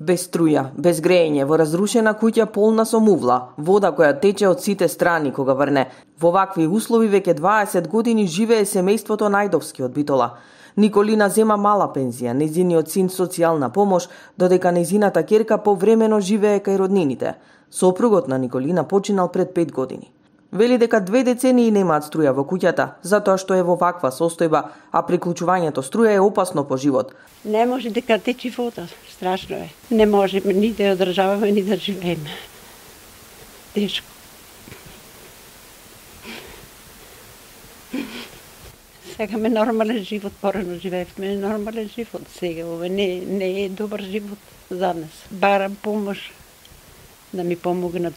Без струја, без грејење, во разрушена куќа полна со мувла, вода која тече од сите страни кога врне. Во вакви услови веќе 20 години живее семејството Најдовски од Битола. Николина зема мала пензија, нејзиниот син социјална помош, додека нејзината ќерка повремено живее кај роднините. Сопругот на Николина починал пред 5 години. Вели дека 2 децении немаат струја во куќата, затоа што е во ваква состојба, а приклучувањето струја е опасно по живот. Не може дека течи вода, страшно е. Не можеме ни да одржаваме, ни да живееме. Тешко. Сакаме нормален живот, порано живеевме нормален живот. Сега ова не е добар живот за нас. Барам помош да ми помогнат.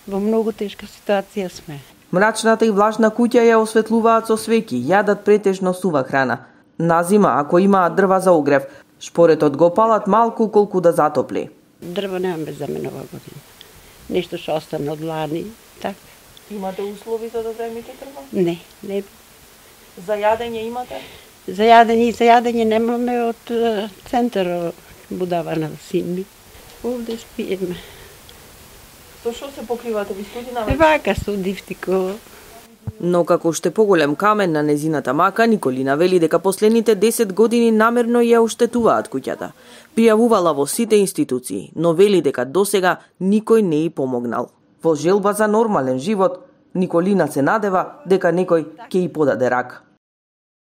Во многу тешка ситуација сме. Мрачната и влажна куќа ја осветлуваат со свеќи, јадат претежно сува храна. На зима, ако имаат дрва за огрев, шпоретот го палат малку колку да затопли. Дрва немаме за мене ова година. Нешто што остане од лани, така. Имате услови за да земите дрва? Не. За јадење имате? За јадење немаме од центар будава на син ми. Овде спиеме. Со што се покривате ви студина? Вака студивтико. Но како уште поголем камен на незината мака, Николина вели дека последните 10 години намерно ја оштетуваат куќата. Пријавувала во сите институции, но вели дека досега никој не и помогнал. Во желба за нормален живот, Николина се надева дека некој ќе и подаде рака.